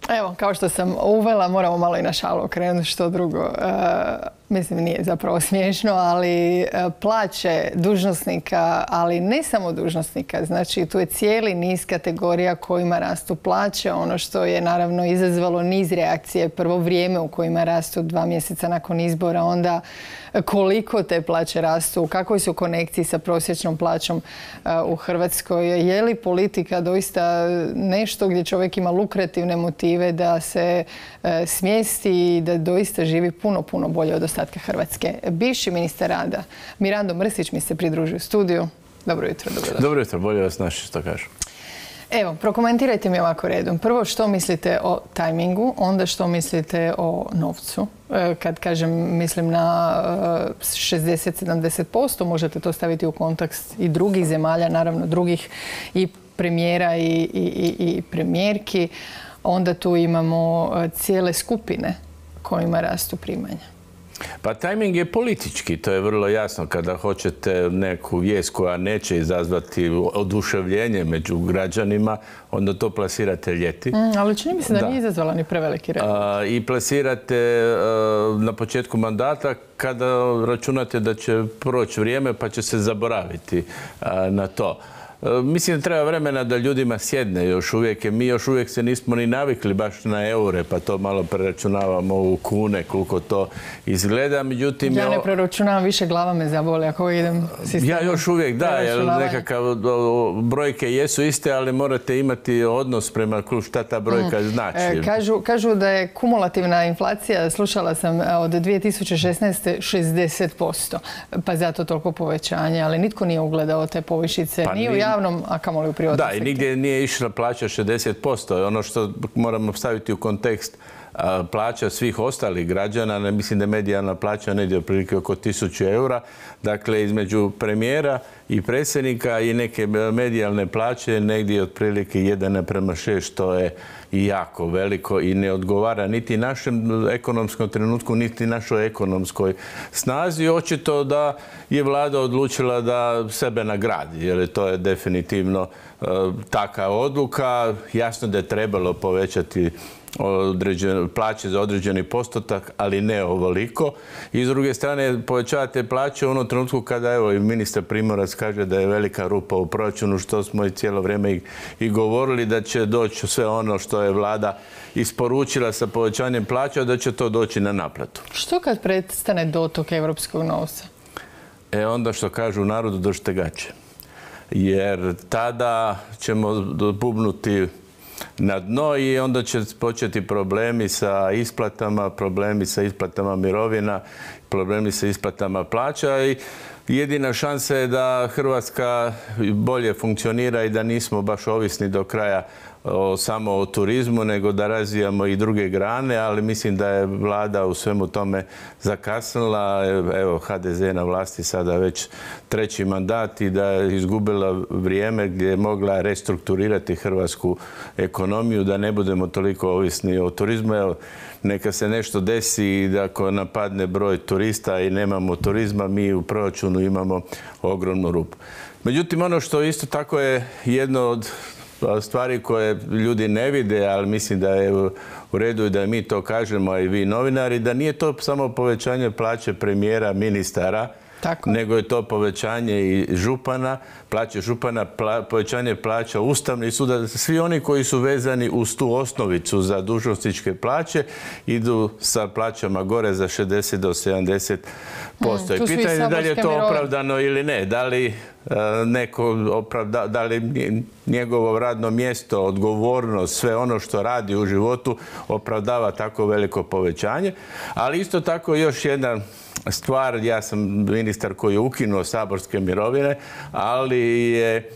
Evo, kao što sam uvela, moramo malo i na šalu okrenuti, što drugo. Mislim, nije zapravo smiješno, ali plaće dužnosnika, ali ne samo dužnosnika. Znači, tu je cijeli niz kategorija kojima rastu plaće. Ono što je naravno izazvalo niz reakcije. Prvo vrijeme u kojima rastu 2 mjeseca nakon izbora, onda koliko te plaće rastu, u kakvoj su konekciji sa prosječnom plaćom u Hrvatskoj. Je li politika doista nešto gdje čovjek ima lukrativne motive da se smjesti i da doista živi puno, puno bolje od ostatka Hrvatske? Bivši ministar rada Mirando Mrsić mi se pridružio u studiju. Dobro jutro. Dobro jutro, bolje vas naši, što kažu. Evo, prokomentirajte mi ovako redom. Prvo, što mislite o tajmingu, onda što mislite o novcu. Kad kažem, mislim na 60-70%, možete to staviti u kontekst i drugih zemalja, naravno drugih i premijera i premijerki. Onda tu imamo cijele skupine kojima rastu primanja. Pa tajming je politički, to je vrlo jasno. Kada hoćete neku vijest koja neće izazvati oduševljenje među građanima, onda to plasirate ljeti. Ali čini mi se da nije izazvala ni preveliki red. I plasirate na početku mandata kada računate da će proći vrijeme pa će se zaboraviti na to. Mislim da treba vremena da ljudima sjedne još uvijek. Mi još uvijek se nismo ni navikli baš na eure, pa to malo preračunavamo u kune, koliko to izgleda. Međutim, ja ne preračunavam, više glava me zaboli ako idem sistemom. Ja još uvijek da, jer nekakav brojke jesu iste, ali morate imati odnos prema šta ta brojka znači. Kažu da je kumulativna inflacija, slušala sam, od 2016. 60%. Pa zato toliko povećanje, ali nitko nije ugledao te povišice, ni u javnom, a kamoli u privatnom sektoru. Da, i nigdje nije išla plaća 60%. Ono što moramo staviti u kontekst plaća svih ostalih građana, mislim da je medijalna plaća negdje otprilike oko 1000 eura. Dakle, između premijera i predsjednika i neke medijalne plaće negdje otprilike 1:6, što je i jako veliko i ne odgovara niti našem ekonomskom trenutku, niti našoj ekonomskoj snazi. Očito da je vlada odlučila da sebe nagradi, jer to je definitivno taka odluka. Jasno da je trebalo povećati plaće za određeni postotak, ali ne ovoliko. I s druge strane, povećavate plaće u onom trenutku kada, evo, i ministar Primorac kaže da je velika rupa u proračunu, što smo i cijelo vrijeme i govorili, da će doći sve ono što je vlada isporučila sa povećanjem plaća, da će to doći na naplatu. Što kad prestane dotok evropskog novca? Onda što kažu u narodu, držite gaće. Jer tada ćemo bubnuti na dno i onda će početi problemi sa isplatama, problemi sa isplatama mirovina, problemi sa isplatama plaća i jedina šansa je da Hrvatska bolje funkcionira i da nismo baš ovisni do kraja samo o turizmu, nego da razvijamo i druge grane, ali mislim da je vlada u svemu tome zakasnila. Evo, HDZ na vlasti sada već 3. mandat i da je izgubila vrijeme gdje je mogla restrukturirati hrvatsku ekonomiju, da ne budemo toliko ovisni o turizmu. Evo, neka se nešto desi i da ako napadne broj turista i nemamo turizma, mi u proračunu imamo ogromnu rupu. Međutim, ono što isto tako je jedno od stvari koje ljudi ne vide, ali mislim da je u redu i da mi to kažemo, a i vi novinari, da nije to samo povećanje plaće premijera, ministara, nego je to povećanje i župana, plaće župana, povećanje plaća Ustavnih suda. Svi oni koji su vezani uz tu osnovicu za dužnosničke plaće idu sa plaćama gore za 60 do 70%. I pitanje je da li je to opravdano ili ne. Da li da li njegovo radno mjesto, odgovornost, sve ono što radi u životu opravdava tako veliko povećanje. Ali isto tako još jedna stvar, ja sam ministar koji je ukinuo saborske mirovine, ali je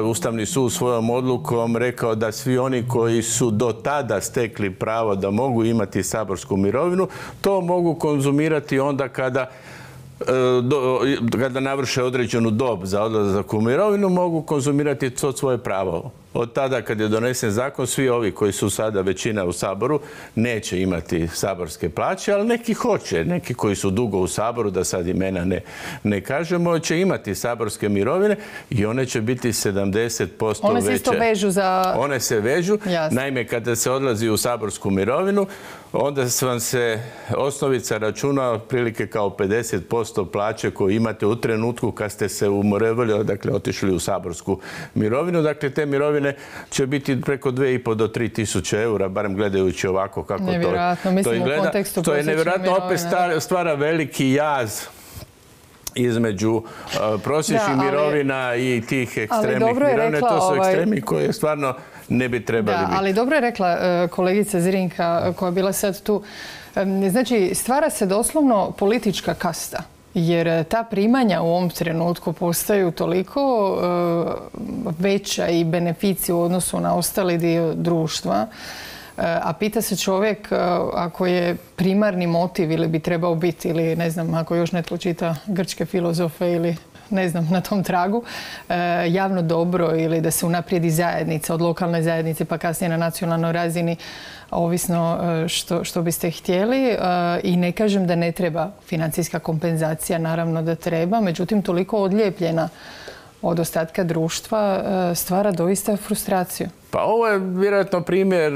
Ustavni sud svojom odlukom rekao da svi oni koji su do tada stekli pravo da mogu imati saborsku mirovinu, to mogu konzumirati onda kada navrše određenu dob za odlazak u mirovinu, mogu konzumirati to svoje pravo. od tada kad je donesen zakon, svi ovi koji su sada većina u Saboru neće imati saborske plaće, ali neki hoće. Neki koji su dugo u Saboru, da sad imena ne kažemo, će imati saborske mirovine i one će biti 70% veće. One se isto vežu za... One se vežu. Jasne. Naime, kada se odlazi u saborsku mirovinu, onda vam se osnovica računa otprilike kao 50% plaće koju imate u trenutku kad ste se umorevali, dakle otišli u saborsku mirovinu. Dakle, te mirovine će biti preko 2.500 do 3.000 eura, barem gledajući ovako kako to izgleda. To je nevjerojatno, opet stvara veliki jaz između prosječnih mirovina i tih ekstremnih mirovina. To su ekstremi koje stvarno ne bi trebali biti. Ali dobro je rekla kolegica Zrinka koja je bila sad tu. Znači, stvara se doslovno politička kasta. Jer ta primanja u ovom trenutku postaju toliko veća i beneficija u odnosu na ostali dio društva. A pita se čovjek ako je primarni motiv ili bi trebao biti, ili ne znam, ako još netko čita grčke filozofe ili ne znam, na tom tragu, javno dobro ili da se unaprijedi zajednica od lokalne zajednice pa kasnije na nacionalnoj razini, ovisno što biste htjeli. I ne kažem da ne treba financijska kompenzacija, naravno da treba, međutim toliko odlijepljena od ostatka društva stvara doista frustraciju. Pa ovo je vjerojatno primjer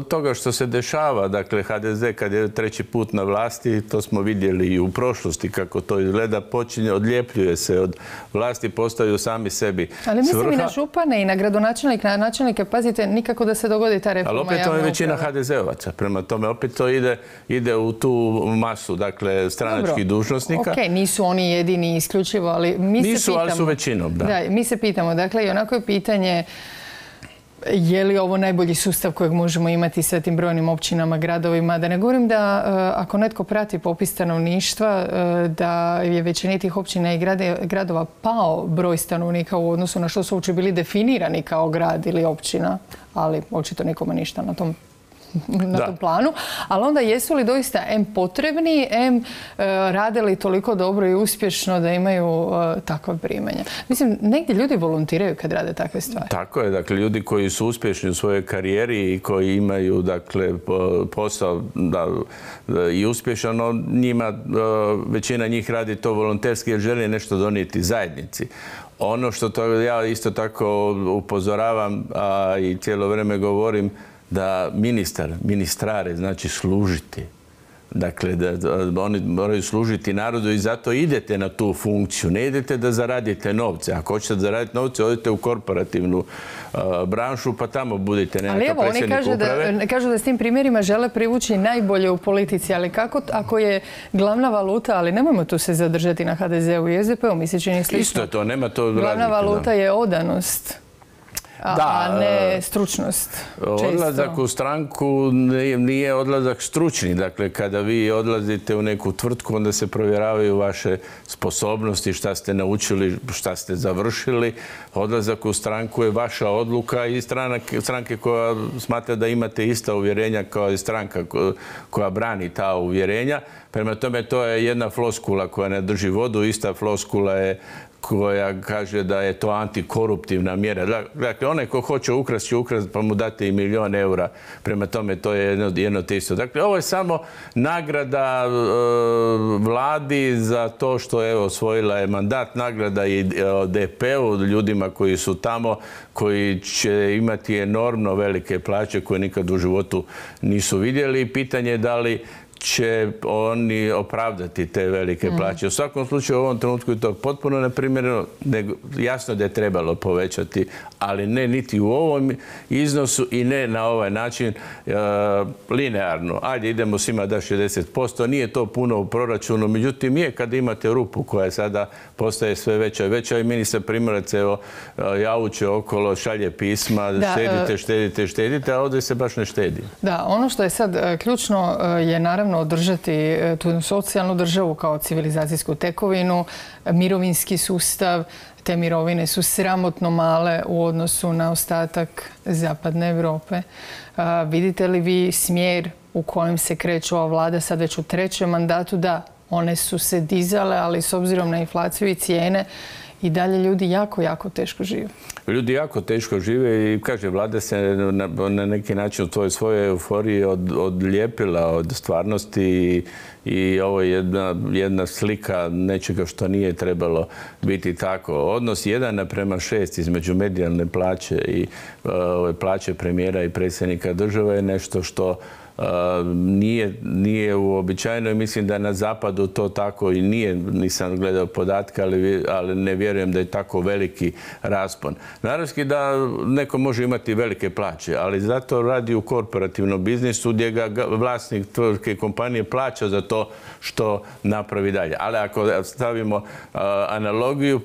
toga što se dešava. Dakle, HDZ kad je treći put na vlasti, to smo vidjeli i u prošlosti kako to izgleda, odljepljuje se od vlasti, postaju sami sebi svrha. Ali mislim i na župane i na gradonačelnike, na načelnike, pazite, nikako da se dogodi ta reforma javne uprave. Ali opet to je većina HDZ-ovaca, prema tome opet to ide u tu masu, dakle, stranačkih dužnosnika. Ok, nisu oni jedini isključivo, ali mi se pitamo... Nisu, ali su većinom, da. Da, mi se pitamo, dakle, i onako je pitanje je li ovo najbolji sustav kojeg možemo imati sa tim brojnim općinama, gradovima. Da ne govorim da ako netko prati popis stanovništva, da je većini tih općina i gradova pao broj stanovnika u odnosu na što su uopće bili definirani kao grad ili općina, ali očito nikome ništa na tom planu. Ali onda jesu li doista potrebni, rade li toliko dobro i uspješno da imaju takva primanja? Mislim, negdje ljudi volontiraju kad rade takve stvari. Tako je. Dakle, ljudi koji su uspješni u svojoj karijeri i koji imaju, dakle, posao i uspješan, njima, većina njih radi to volonterski jer želi nešto donijeti zajednici. Ono što ja isto tako upozoravam i cijelo vrijeme govorim, da ministrare znači služiti. Dakle, da oni moraju služiti narodu i zato idete na tu funkciju. Ne idete da zaradite novce. Ako hoćete zaraditi novce, odite u korporativnu branšu pa tamo budite nekakav predsjednik uprave. Ali evo, oni kažu da s tim primjerima žele privući najbolje u politici, ali kako ako je glavna valuta, ali nemojmo tu se zadržati na HDZ-u i SDP-u, mi se čini slično. Isto je to, nema to razlike. Glavna valuta je odanost. A ne stručnost. Odlazak u stranku nije odlazak stručni. Dakle, kada vi odlazite u neku tvrtku, onda se provjeravaju vaše sposobnosti, šta ste naučili, šta ste završili. Odlazak u stranku je vaša odluka i stranke koja smatra da imate ista uvjerenja kao i stranka koja brani ta uvjerenja. Prema tome, to je jedna floskula koja ne drži vodu. Ista floskula je koja kaže da je to antikoruptivna mjera. Dakle, onaj ko hoće ukrasti, će ukrasti pa mu date i 1.000.000 eura. Prema tome, to je jedno te isto. Dakle, ovo je samo nagrada vladi za to što je osvojila je mandat, nagrada i DP-u, ljudima koji su tamo, koji će imati enormno velike plaće koje nikad u životu nisu vidjeli. Pitanje je da li će oni opravdati te velike plaće. U svakom slučaju u ovom trenutku je to potpuno neprimjereno. Jasno da je trebalo povećati, ali ne niti u ovom iznosu i ne na ovaj način linearno. Ajde, idemo svima da 60%. Nije to puno u proračunu, međutim je kad imate rupu koja sada postaje sve veća i veća i ministar Primorac javuće okolo, šalje pisma, štedite, a ovdje se baš ne štedi. Da, ono što je sad ključno je naravno održati tu socijalnu državu kao civilizacijsku tekovinu, mirovinski sustav. Te mirovine su sramotno male u odnosu na ostatak zapadne Europe. Vidite li vi smjer u kojem se kreće ova vlada sad već u trećem mandatu? Da, one su se dizale, ali s obzirom na inflaciju i cijene i dalje ljudi jako, jako teško žive. Ljudi jako teško žive i, kaže, vlada se na neki način u toj svojoj euforiji odlijepila od stvarnosti i ovo je jedna slika nečega što nije trebalo biti tako. Odnos 1:6 između medijalne plaće i plaće premijera i predsjednika države je nešto što nije uobičajeno i mislim da na zapadu to tako i nije, nisam gledao podatke, ali ne vjerujem da je tako veliki raspon. Naravski da neko može imati velike plaće, ali zato radi u korporativnom biznisu gdje ga vlasnik tvrtke kompanije plaća za to što napravi dalje. Ali ako stavimo analogiju,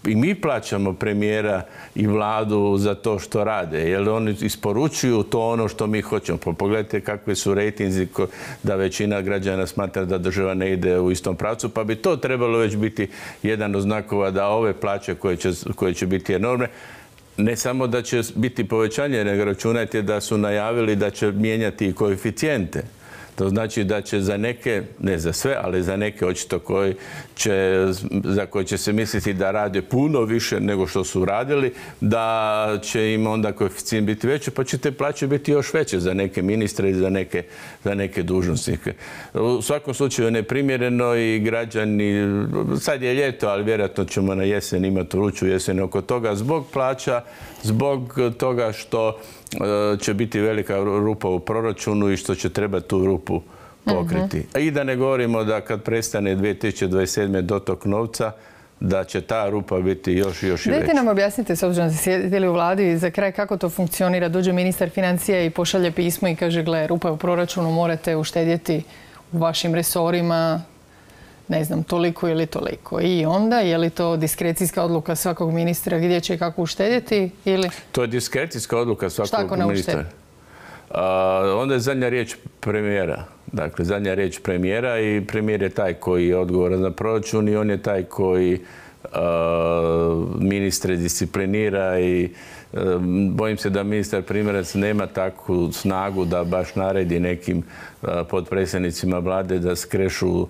i mi plaćamo premijera i vladu za to što rade, jer oni isporučuju to ono što mi hoćemo. Pogledajte kakvi su rejtinzi da većina građana smatra da država ne ide u istom pravcu, pa bi to trebalo već biti jedan od znakova da ove plaće koje će biti enormne, ne samo da će biti povećanje, nego računajte da su najavili da će mijenjati i koeficijente. To znači da će za neke, ne za sve, ali za neke očito za koje će se misliti da rade puno više nego što su radili, da će im onda koeficijent biti veći, pa će te plaće biti još veće za neke ministre i za neke dužnosnike. U svakom slučaju neprimjereno i građani, sad je ljeto, ali vjerojatno ćemo na jesen imati vruću jesen oko toga, zbog plaća, zbog toga što će biti velika rupa u proračunu i što će treba tu rupu pokriti. I da ne govorimo da kad prestane 2027. dotok novca, da će ta rupa biti još i veća. Dajte nam objasnite, s obzirom da ste sjedili u vladi, za kraj kako to funkcionira. Dođe ministar financija i pošalje pismo i kaže, gle, rupa je u proračunu, morate uštedjeti u vašim resorima, ne znam, toliko ili toliko. I onda, je li to diskrecijska odluka svakog ministra gdje će kako uštedjeti? Ili... To je diskrecijska odluka svakog ministra. Onda je zadnja riječ premijera. Dakle, zadnja riječ premijera i premijer je taj koji je odgovoran za proračun i on je taj koji ministre disciplinira i bojim se da ministar Primorac nema takvu snagu da baš naredi nekim potpredsjednicima vlade da skrešu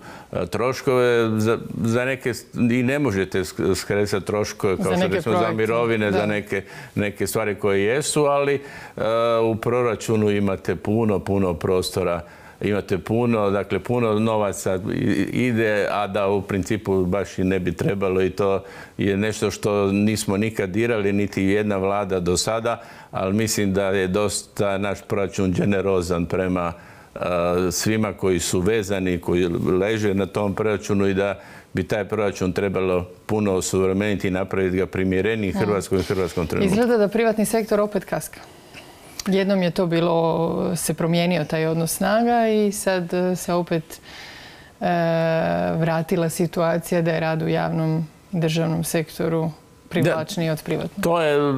troškove. Za neke i ne možete skresati troškove kao što recimo za mirovine, za neke stvari koje jesu, ali u proračunu imate puno prostora. Imate puno novaca ide, a da u principu baš i ne bi trebalo i to je nešto što nismo nikad dirali, niti jedna vlada do sada, ali mislim da je dosta naš proračun generozan prema svima koji su vezani, koji leže na tom proračunu i da bi taj proračun trebalo puno osuvremeniti i napraviti ga primjereniji Hrvatskoj i hrvatskom trenutku. Izgleda da privatni sektor opet kaska. Jednom je to bilo, se promijenio taj odnos snaga i sad se opet vratila situacija da je rad u javnom državnom sektoru privlačniji od privatnog. To je,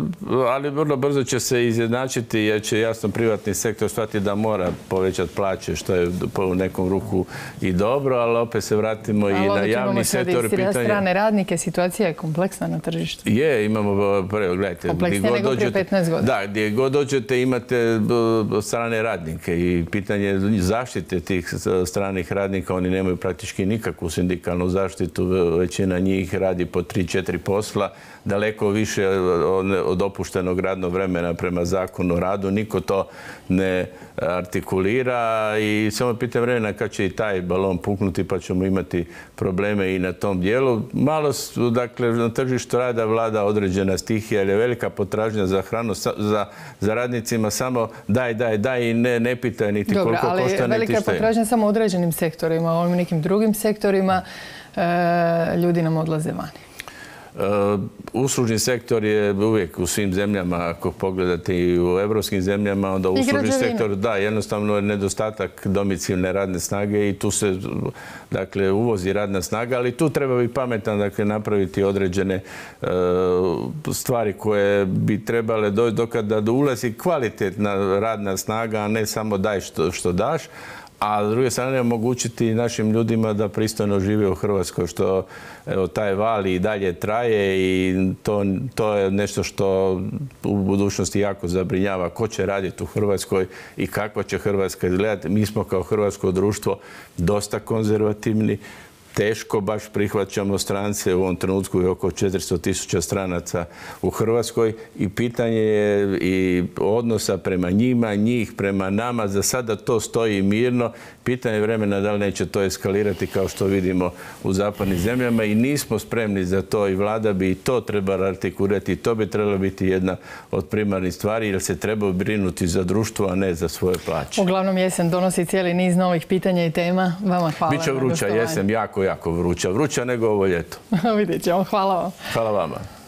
ali vrlo brzo će se izjednačiti jer će jasno privatni sektor shvatiti da mora povećati plaće, što je u nekom ruku i dobro, ali opet se vratimo i na javni sektor. Ali strane radnike, situacija je kompleksna na tržištu. Je, imamo, gledajte, kompleksnije nego prije 15 godina. Da, gdje god dođete imate strane radnike i pitanje zaštite tih stranih radnika, oni nemaju praktički nikakvu sindikalnu zaštitu, većina njih radi po 3-4 posla, daleko više od dopuštenog radnog vremena prema zakonu o radu. Niko to ne artikulira i samo pitanje vremena kad će i taj balon puknuti pa ćemo imati probleme i na tom dijelu. Malo, dakle, na tržištu rada vlada određena stihija jer je velika potražnja za hranu, za radnicima samo daj i ne pitaj niti koliko košta, niti šta je. Velika potražnja samo u određenim sektorima, u nekim drugim sektorima ljudi nam odlaze vani. Uslužni sektor je uvijek u svim zemljama, ako pogledate i u evropskim zemljama, onda uslužni sektor, da, jednostavno je nedostatak domicilne radne snage i tu se, dakle, uvozi radna snaga, ali tu treba biti pametan, dakle, napraviti određene stvari koje bi trebale doći dokada ulazi kvalitetna radna snaga, a ne samo daj što daš. A s druge strane omogućiti našim ljudima da pristojno žive u Hrvatskoj, što evo, taj val i dalje traje i to je nešto što u budućnosti jako zabrinjava. Ko će raditi u Hrvatskoj i kakva će Hrvatska izgledati. Mi smo kao hrvatsko društvo dosta konzervativni. teško baš prihvaćamo strance. U ovom trenutku je oko 400.000 stranaca u Hrvatskoj i pitanje je i odnosa prema njima, njih prema nama. Za sada to stoji mirno. Pitanje je vremena da li neće to eskalirati kao što vidimo u zapadnim zemljama i nismo spremni za to i vlada bi i to trebala artikulirati i to bi trebalo biti jedna od primarnih stvari jer se treba brinuti za društvo, a ne za svoje plaće. Uglavnom jesen donosi cijeli niz novih pitanja i tema. Vama hvala. Biće vruća jesen, jako vruća. Vruća nego ovo ljeto. Vidjet ćemo. Hvala vam. Hvala vama.